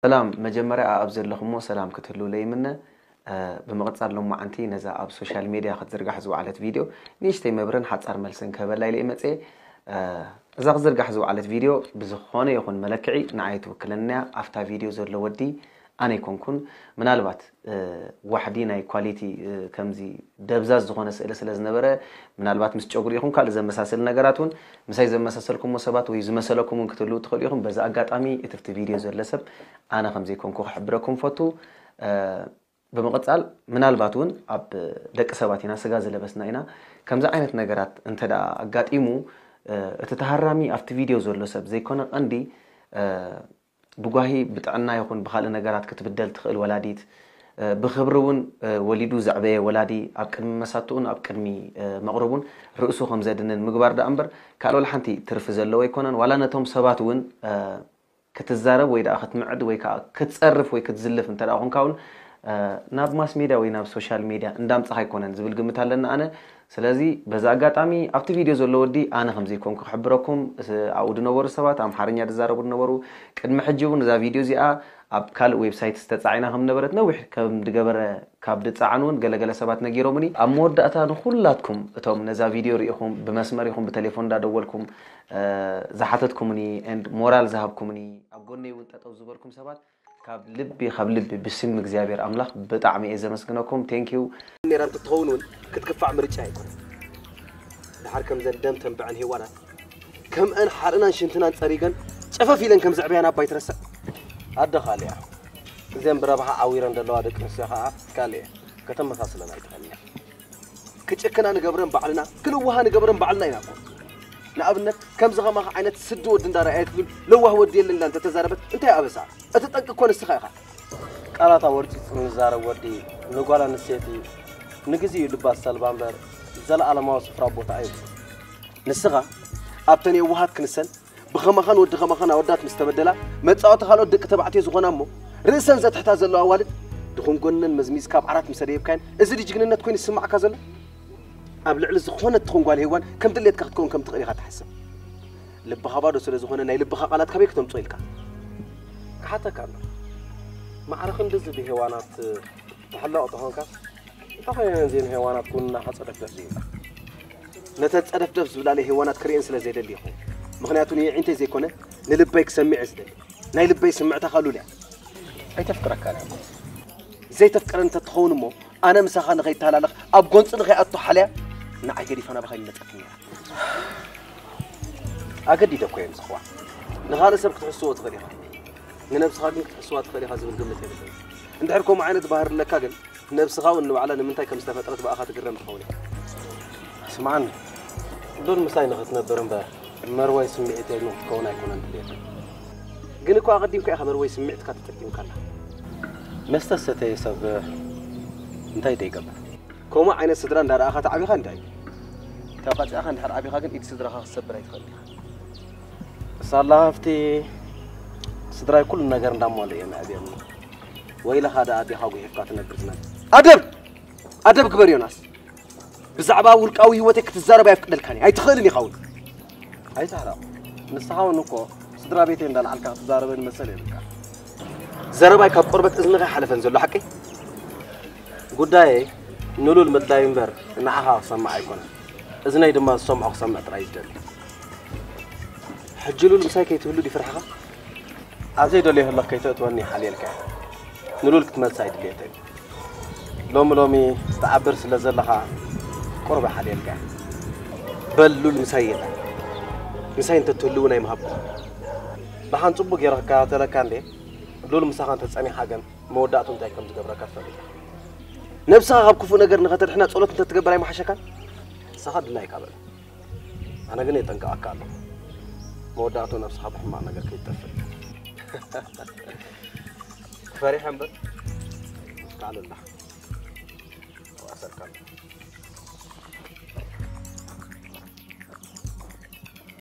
ሰላም፣ መጀመርያ ኣብ ዘለኹሞ ሰላም ክትህልው ለይምነ። እ፣ ብምቕጻል ሎማዓንቲ ነዛ ኣብ ሶሻል ሜድያ ክትዝርጋሕ ዝወዓለት ቪድዮ ንእሽተይ መብርን ሓጻር መልስን ክህበላ ኢለ እየ መጽየ። እ፣ እዛ ክትዝርጋሕ ዝወዓለት ቪድዮ ብዝኾነ ይኹን መለክዒ ንዓይ ትውክለንያ። ኣብታ ቪድዮ ዘሎ ወዲ ኣነ ኣይኮንኩን። ምናልባት፣ እ፣ ዋሕዲ ናይ ኳሊቲ፣ እ፣ ከምዚ ደብዛዝ ዝኾነ ስእሊ ስለ ዝነበረ፣ ምናልባት ምስ ጨጉሪ ይኹን ካልእ ዘመሳሰል ነገራት እውን ምሳይ ዘመሳሰልኩሞ ሰባት ወይ ዝመሰለኩም እውን ክትህልው ትኽእሉ ኢኹም። በዚ ኣጋጣሚ እቲ ኣብቲ ቪድዮ ዘሎ ሰብ ኣነ ከም ዘይኮንኩ ክሕብረኩም ፈቱ። እ፣ ብምቕጻል ምናልባት እውን ኣብ ደቂ ሰባት ኢና፣ ስጋ ዝለበስና ኢና። ከምዚ ዓይነት ነገራት እንተ ደኣ ኣጋጢሙ፣ እ፣ እቲ ተሃራሚ ኣብቲ ቪድዮ ዘሎ ሰብ ዘይኮነ ቀንዲ፣ እ፣ ብጓሂ ብጥዕና ይኹን ብኻልእ ነገራት ክትብደል ትኽእል ወላዲት፣ እ፣ ብኽብሪ እውን፣ እ፣ ወሊዱ ዘዕበየ ወላዲ ኣብ ቅድሚ መሳትኡን ኣብ ቅድሚ፣ እ፣ መቕርቡን ርእሱ ከም ዘድንን ምግባር ደኣ እምበር ካልእ ወላ ሓንቲ ትርፊ ዘለዎ ኣይኮነን። ዋላ ነቶም ሰባት እውን፣ እ፣ ክትዛረብ ወይ ደኣ ክትምዕድ ወይ ከዓ ክትጸርፍ ወይ ክትዝልፍ እንተ ደኣ ኾንካ እውን፣ እ፣ ናብ ማስ ሜድያ ወይ ናብ ሶሻል ሜድያ እንዳምጻኻ ኣይኮነን ዝብል ግምት ኣለኒ ኣነ። ስለዚ በዚ ኣጋጣሚ ኣብቲ ቪድዮ ዘሎ ወዲ ኣነ ከም ዘይኮንኩ ክሕብረኩም፣ ስ-፣ ኣብኡ ዝነበሩ ሰባት ኣምሓርኛ ዝዛረቡ ዝነበሩ፣ ቅድሚ ሕጂ እውን እዛ ቪድዮ እዚኣ ኣብ ካልእ ዌብሳይት ዝተጻዒና ከም ነበረት ነዊሕ ከም ዝገበረ ካብ ዝጸዓኑ እውን ገለገለ ሰባት ነጊሮምኒ። ኣብ መወዳእታ ንኹላትኩም እቶም ነዛ ቪድዮ ርኢኹም ብመስመር ይኹን ብቴሌፎን እንዳደወልኩም፣ እ፣ ዝሓተትኩምኒ ኤንድ ሞራል ዝሃብኩምኒ፣ ኣብ ጎነይ እውን ጠጠው ዝበልኩም ሰባት ካብ ልቢ፣ ካብ ልቢ ብስም እግዚኣብሔር ኣምላኽ ብጣዕሚ እየ ዘመስግነኩም። ቴንክ ዩ። ኔራ እንትትኸውን እውን ክትክፋዕ ምርጫ ኣይኮነን። ድሓር ከምዘን ደም ተንብዐን ሄዋናት ከምአን ሓርናን ሽንትናን ጸሪገን ጨፈፍ ኢለን ከም ዘዕበያን ኣባይ ትረስዕ። ኣደ ካልእ እያ። እዘን ብረብሓ ዓዊረን ዘለዋ ደቂ ኣንስትዮ ኸዓ ካልእ እየን። ከተመሳስለን ኣይትኽእልን እያ። ክጭክና ንገብረን ባዕልና፣ ክንውሃ ንገብረን ባዕልና ኢና እኮ። ንኣብነት ከምዚ ኸማኻ ዓይነት ስዲ ወዲ እንዳረኣየት ሉል ለዋህ ወዲ የለን ኢላ እንተተዛረበት እንታይ ኣበሳ? እቲ ጠንቂ እኮ ንስኻ ኢኻ። ቃላት ኣወርጺጹ ንዛረብ ወዲ ንጓል ኣንስተይቲ ንግዜኡ ልባ ዝሰልባ እምበር ዘለኣለማዊ ስፍራ ቦታ ኣይብሉን። ንስኻ ኣብተን የዋሃት ክንሰን ብኸማኻን ወዲ ኸማኻን ኣወዳት ምስ ተበደላ መጻወቲ ካልኦት ደቂ ተባዕትዮ ዝኾና እሞ ርእሰን ዘትሕታ ዘለዋ ኣዋልድ ድኹም ጎነን መዝሚዝካ ኣብ ዓራት ምስ ኣደየብካየን እዚ ድዩ ጅግንነት ኮይኑ ዝስማዓካ ዘሎ? ኣብ ልዕሊ ዝኾነት ትኹን ጓል ሄዋን ከም ድሌትካ ክትከውን ከም ትኽእል ኢኻ ትሓስብ። ልብኻ ባዶ ስለ ዝኾነ ናይ ልብኻ ቃላት ካበይ ክተምጾ ኢልካ? ክሓተካ ኣሎ። ማዕረ ክንድዚ ብሄዋናት ትሕለቕ ተኾንካ እንታይ ኮይነን እዘን ሄዋናት ጎንና ከጸደፍደፍ ዘይብላ? ነተን ጸደፍደፍ ዝብላ ናይ ሄዋናት ክርእየን ስለ ዘይደሊ ኢኹ። ምኽንያቱ ንየዒንተይ ዘይኮነ ንልበይ ክሰምዕ እየ ዝደሊ። ናይ ልበይ ስምዕታ ኸሉል እያ። ኣይተፍቅረካን እያ እኮ። ዘይተፍቅረን እንተትኸውን እሞ ኣነ ምሳኻ ንኸይተሃላለኽ ኣብ ጎንጺ ንኸይኣቱ ሓልያ ንዓይ ገዲፋ ናባኻ ይመጸትኒ ነይራ። ኣገዲደ እኮ እየ ምሳኻ። ንኻልእ ሰብ ክትሕስዎ ትኽእል ኢኻ። ንነብስኻ ግን ክትሕስዋ ትኽእል ኢኻ ዝብል ግምት የብለይን። እንድሕር ከምኡ ዓይነት ባህሪ ኣለካ ግን ነብስኻ እውን ንባዕላ ንምንታይ ከም ዝተፈጥረት ብኣኻ ትግረም ትኸውን ኢኻ። ስምዓኒ፣ ሉል ምሳይ ንኽትነብር እምበር መርወይ ስምዒተይ ንኽትከውን ኣይኮነን ድልየተይ። ግን እኮ ኣቐዲምካ ኢኻ መርወይ ስምዒትካ ተጠቂምካላ። መስተ ዝሰተየ ሰብ እንታይ ዶ ይገብር? ከምኡ ዓይነት ስድራ እንዳረኣኻ ተዓቢኻ እንታይ? ተቐጺዕኻ እንድሕር ዓቢኻ ግን ኢድ ስድራኻ ክትሰብር ኣይትኽእልን ኢኻ። ሳላ ሃፍቲ ስድራይ ኩሉ ነገር እንዳማሉ እዮም ኣዕብዮምኒ። ወይለኻ ደኣ ኣዴኻ ጉሒፍካ ትነብር ትነብር። ኣደብ! ኣደብ ግበር ዮናስ። ብዛዕባ ውልቃዊ ህይወተይ ክትዛረብ ኣየፍቅደልካን እየ። ኣይትኽእልን ኢኻ እውን። ኣይትሕረቕ። ንስኻ እውን እኮ ስድራ ቤተይ እንዳልዓልካ ክትዛረበኒ መሰል የብልካ። ዘረባይ ካብ ቆርበት እዝንኻ ኣይሓለፈን ዘሎ ሓቀይ? ጉዳየይ ንሉል ምድላይ እምበር ንዓኻ ክሰምዕ ኣይኮነን። እዝነይ ድማ ዝሰምዖ ክሰምዕ ጥራይ እዩ ዝደሊ። ሕጂ ሉል ምሳይ ከይትህሉ ድዩ ፍርሕኻ? ኣብ ዘይደልዮ ህልኽ ከይተእትወኒ ሓልየልካ እየ። ንሉል ክትመልሳ እዩ ድልየተይ። ሎሚ ሎሚ ትዓብር ስለ ዘለኻ ቁሩብ ሓልየልካ እየ። በል ሉል ምሳይ የላ። ምሳይ እንተትህሉ እውን ኣይምሃብኩ። ደሓን ጽቡቕ ገይረ ክከታተለካ እንዴ? ሉል ምሳኻ እንተጸኒሓ ግን መወዳእቱ እንታይ ከም ዝገብረካ ትፈልጥ ኢኻ። ነብስኻ ካብ ክፉእ ነገር ንኸተድሕና ጸሎት እንተትገብር ኣይምሓሸካን? ንስኻ ድላይካ በል። ኣነ ግን የጠንቅቐካ ኣለኹ። መወዳእቱ ነብስኻ ብሕማቕ ነገር ከይትጠፍእ። ፈሪሐ እምበር፣ ከዓል ኣላ። ኣዋሰርካ ኣሎ።